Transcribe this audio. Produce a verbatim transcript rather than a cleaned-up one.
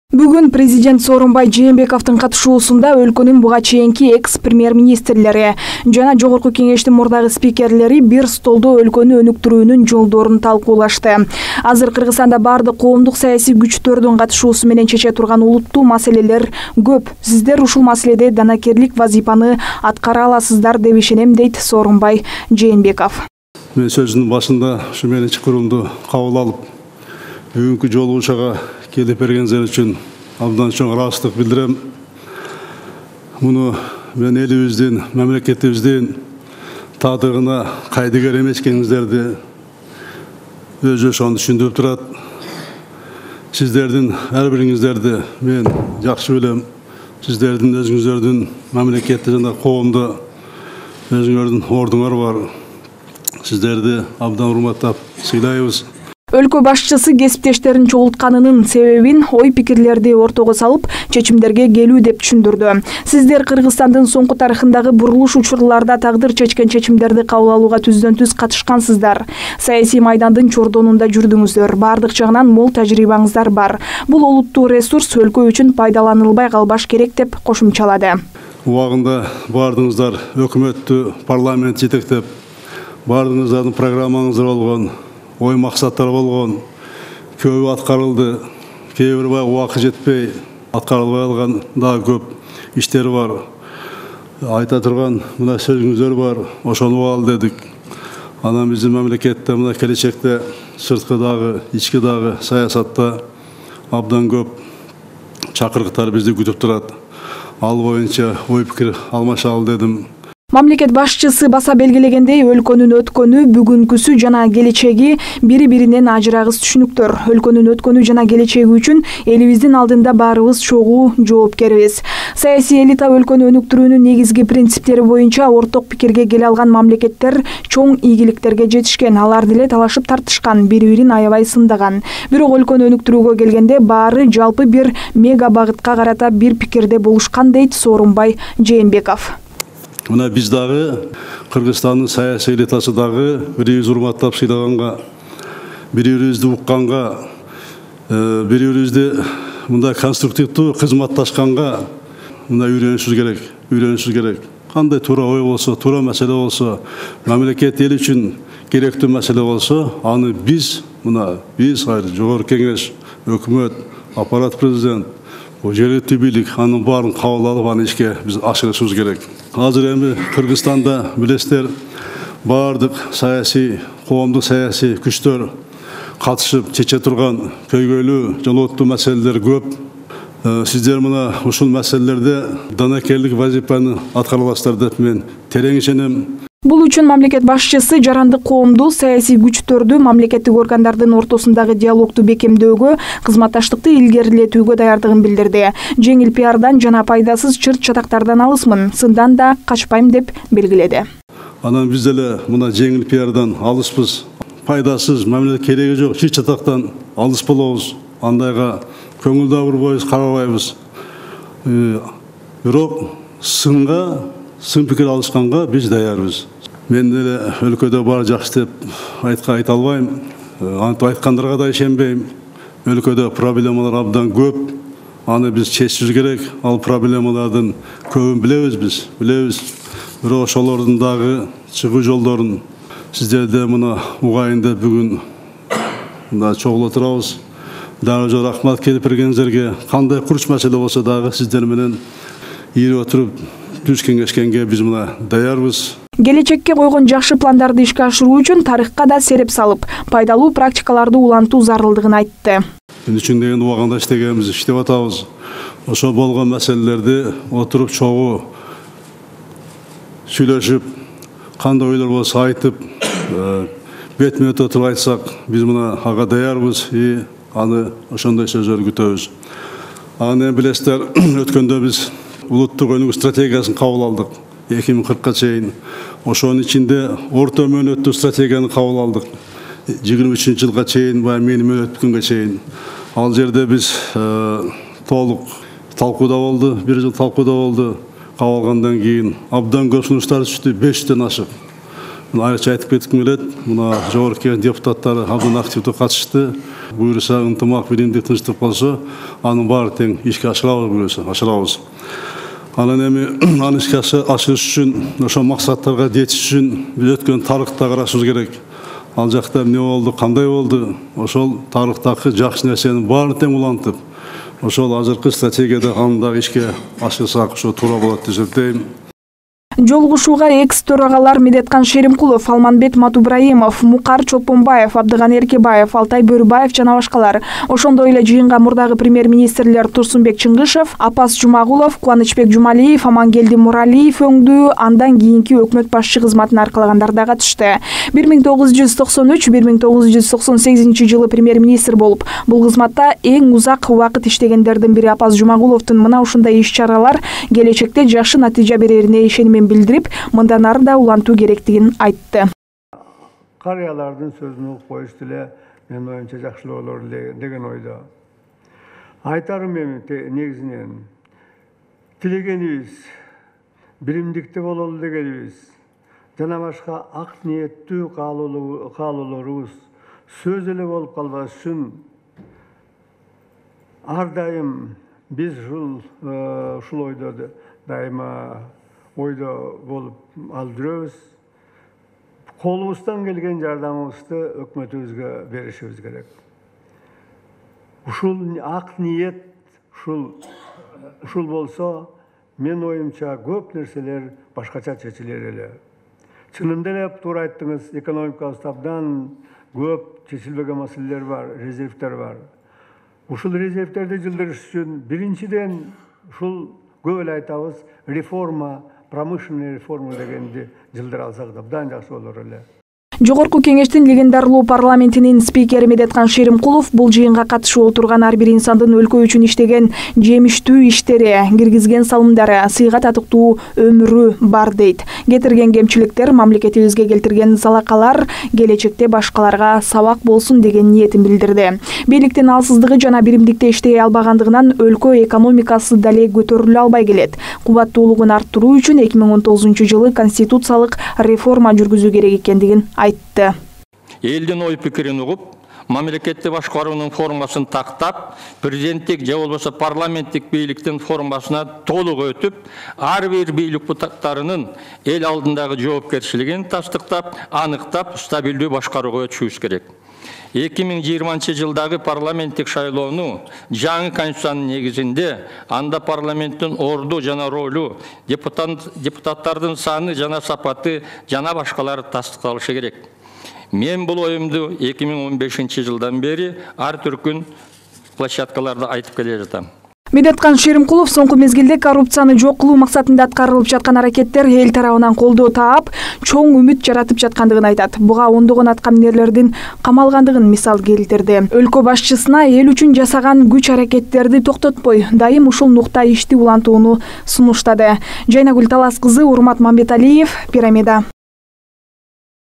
Бүгүн президент Сооронбай Жээнбековдун катышуусунда өлкөнүн буга чейинки экс-премьер-министрлери жана жогорку кеңештин мурдагы спикерлери бир столдо өлкөнү өнүктүрүүнүн жолдорун талкуулашты. Азыр Кыргызстанда бардык коомдук саясий күчтөрдүн катышуусу менен чече турган улуттуу маселелер көп. Сиздер ушул маселеде данакерлик вазифаны аткара аласыздар деп ишенем, дейт Сооронбай Жээнбеков. Мен сөзүнүн башында ушу менин чакыруумду кабыл алып, бүгүнкү жолугушууга келип бергениңиздер үчүн абдан чоң ыраазычтык билдирем. Муну мен элибиздин, мамлекетибиздин таадыгына кайдыгер эмес экениңиздерди өзү ошону түшүндүрүп турат. Сиздердин ар бириңиздерди мен жакшы билем. Сиздердин өзүңүздөрдүн мамлекетте жана коомдо өзүңөрдүн ордуңар бар. Сиздерди абдан урматтап сыйлайбыз. Өлкө башчысы кесиптештерин чогултканынын себебин ой пикирлерди ортого салып, чечимдерге келүү деп түшүндүрдү. Сиздер Кыргызстандын соңку тарыхындагы бурулуш учурларда тагдыр чечкен чечимдерди кабыл алууга түздөн-түз катышкансыздар. Саясий майдандын чордонунда жүрдүңүздөр. Бардык жагынан мол тажрыйбаңыздар бар. Бул олуттуу ресурс өлкө үчүн пайдаланылбай калбаш керек деп кошумчалады. Убагында бардыгыңыздар өкмөттү, парламент жетектеп, бардыгыңыздардын программаңыздар болгон, ой максаттар болгон, көбү аткарылды, кээ бир убакыт жетпей аткарылбай калган дагы көп иштер бар. Айта турган мына сөзүңүздөр бар, ошону ал дедик. Анан биздин мамлекетте мына келечекте сырткы дагы, ички дагы саясатта абдан көп чакырыктар бизди күтүп турат. Ал боюнча ой пикир алмашалы дедим. Мамлекет башчысы баса белгилегендей, өлкөнүн өткөнү, бүгүнкүсү жана келечеги бири-биринен ажырагыс түшүнүктөр. Өлкөнүн өткөнү жана келечеги үчүн элибиздин алдында баарыбыз чогуу жоопкербиз. Саясий элита өлкөнү өнүктүрүүнүн негизги принциптери боюнча орток пикирге келе алган мамлекеттер чоң ийгиликтерге жетишкен. Алар деле талашып тартышкан, бири-бирин аябай сындаган. Бирок өлкөнү өнүктүрүүгө келгенде баары жалпы бир мега багытка карата бир пикирде болушкан, дейт Сооронбай Жээнбеков. Мына биз дагы Кыргызстандын саясий элитасы дагы бирибиз урматтап сыйлаганга, бири-бирибизди укканга, бири-бирибизди мындай конструктивдүү кызматташканга мына үйрөнүшүбүз керек, үйрөнүшүбүз керек. Кандай туура ой болсо, туура маселе болсо, мамлекет эл үчүн керектүү маселе болсо, аны биз мына биз жогорку кеңеш, өкмөт, аппарат президент, жергиликтүү бийлик анын баарын кабыл алып, аны ишке биз ашырышыбыз керек. Азыр эми Кыргызстанда билесиздер, бардык саясий, коомдук саясий күчтөр катышып чече турган көйгөйлүү, жолооттуу маселелер көп. Сиздер мына ушул маселелерде данакерлик вазифаны аткара аласыздар деп мен терең ишенем. Бул үчүн мамлекет башчысы жарандык коомду, саясий күчтөрдү, мамлекеттик органдардын ортосундагы диалогду бекемдөөгө, кызматташтыкты илгерилетүүгө даярдыгын билдирди. Жеңил пиардан жана пайдасыз чырт-чатактардан алысмын, сындан да качпайм деп белгиледи. Анан биз деле мына жеңил пиардан алыспыз, пайдасыз, мамлекетке кереги жок чырт-чатактан алыс болобуз. Андайга көңүл да бурбойбуз, карабайбыз. Бирок сынга сын пикир алышканга биз даярбыз. Мен деле өлкөдө бар жакшы деп айтка айта албайм. Антип айткандарга да ишенбейм. Өлкөдө проблемалар абдан көп. Аны биз чечишибиз керек. Ал проблемалардын көбүн билебиз биз, билебиз. Бирок ошолордун дагы чыгуу жолдорун сиздерде мына угайын деп бүгүн мына чогулуп турабыз. Дагы жок рахмат келип бергениңиздерге. Кандай курч маселе болсо дагы сиздер менен ийип отуруп түз кеңешкенге биз мына даярбыз. Келечекке койгон жакшы пландарды ишке ашыруу үчүн тарыхка да сереп салып, пайдалуу практикаларды улантуу зарылдыгын айтты. Мен үчүн деген убагында иштегенбиз, иштеп атабыз. Ошо болгон маселелерди отуруп чогуу сүйлөшүп, кандай ойлор болсо айтып, бетме-бет отуруп айтсак, биз мына ага даярбыз и аны ошондой сөздөрдү күтөбүз. Аны билесиздер, өткөндө биз улуттук өнүгүү стратегиясын кабыл алдык. эки миң кыркка чейин. Ошонун ичинде орто мөөнөттүү стратегияны кабыл алдык. жыйырма үчүнчү жылга чейин, баягы менин мөөнөт бүткөнгө чейин. Ал жерде биз толук талкууда болду, бир жыл талкууда болду. Кабыл алгандан кийин абдан көп сунуштар түштү, беш жүздөн ашык. Айрыкча айтып кетким келет. Мына жогорку кеңеш депутаттары абдан активдүү катышты. Буюрса, ынтымак, биримдик, тынчтык болсо, анын баары тең ишке ашырабыз, буюрса, ашырабыз. Анан эми аны ишке ашырыш үчүн, ошол максаттарга жетиш үчүн биз өткөн тарыхта карашыбыз керек. Ал жакта эмне болду, кандай болду? Ошол тарыхтагы жакшы нерсенин баарын тең улантып, ошол азыркы стратегияда аны дагы ишке ашырсак, ошо туура болот деп эсептейм. Жолугушууга экс төрагалар Медеткан Шеримкулов, Алманбет Матубраимов, Мукар Чолпонбаев, Абдыган Эркебаев, Алтай Бөрүбаев жана башкалар. Ошондой эле жыйынга мурдагы премьер-министрлер Турсунбек Чыңгышев, Апас Жумагулов, Кубанычбек Жумалиев, Амангелди Муралиев өңдүү андан кийинки өкмөт башчы кызматын аркалагандар да катышты. бир миң тогуз жүз токсон үч — бир миң тогуз жүз токсон сегизинчи жылы премьер-министр болуп, бул кызматта эң узак убакыт иштегендердин бири Апас Жумагуловдун мына ушундай иш-чаралар келечекте жакшы натыйжа берерине ишенимин билдирип, мындан ары да улантуу керектигин айтты. Карыялардын сөзүн угуп коюш деле менин оюмча жакшылоо болор деген ойдо. Айтарым эми негизинен тилегенибиз биримдикте бололу дегенибиз жана башка ак ниеттүү каалоолорубуз сөз эле болуп калбаш үчүн ар дайым биз ушул ушул ойдо дайыма ойдо болуп алып жүрөбүз. Колубуздан келген жардамыбызды өкмөтүбүзгө беришибиз керек. Ушул ак ниет ушул ушул болсо, мен оюмча көп нерселер башкача чечилер эле. Чынында эле туура айттыңыз, экономикабызда абдан көп чечилбеген маселелер бар, резервдер бар. Ушул резервдерди жылдырыш үчүн биринчиден ушул көп эле айтабыз, реформа, промышленный реформа дегенди жылдыра алсак да абдан жакшы болор эле. Жогорку кеңештин легендарлуу парламентинин спикери Медеткан Шеримкулов бул жыйынга катышып отурган ар бир инсандын өлкө үчүн иштеген жемиштүү иштери, киргизген салымдары, сыйга татыктуу өмүрү бар дейт. Кетирген кемчиликтер, мамлекетибизге келтирген залакалар келечекте башкаларга сабак болсун деген ниетин билдирди. Бийликтин алсыздыгы жана биримдикте иштей албагандыгынан өлкө экономикасы дале көтөрүлө албай келет. Кубаттуулугун арттыруу үчүн эки миң он тогузунчу жылы конституциялык реформа жүргүзүү керек экендигин айтты. Элдин ой пикирин угуп, мамлекетти башкаруунун формасын тактап, президенттик же болбосо парламенттик бийликтин формасына толук өтүп, ар бир бийлик бутактарынын эл алдындагы жоопкерчилигин тастыктап, аныктап, стабилдүү башкарууга өтүшүбүз керек. эки миң жыйырманчы жылдагы парламенттик шайлоону жаңы конституциянын негизинде анда парламенттин орду жана ролу, депутаттардын саны жана сапаты жана башкалар тастыкталышы керек. Мен бул оюмду эки миң он бешинчи жылдан бери ар түркүн площадкаларда айтып келе жатам. Медеткан Шеримкулов соңку мезгилде коррупцияны жок кылуу максатында аткарылып жаткан аракеттер эл тарабынан колдоо таап, чоң үмүт жаратып жаткандыгын айтат. Буга ондогон аткаминерлердин камалгандыгын мисал келтирди. Өлкө башчысына эл үчүн жасаган күч аракеттерди токтотпой, дайым ушул нукта ишти улантууну сунуштады. Жайнагүл Талас кызы, Урмат Мамбеталиев, Пирамида.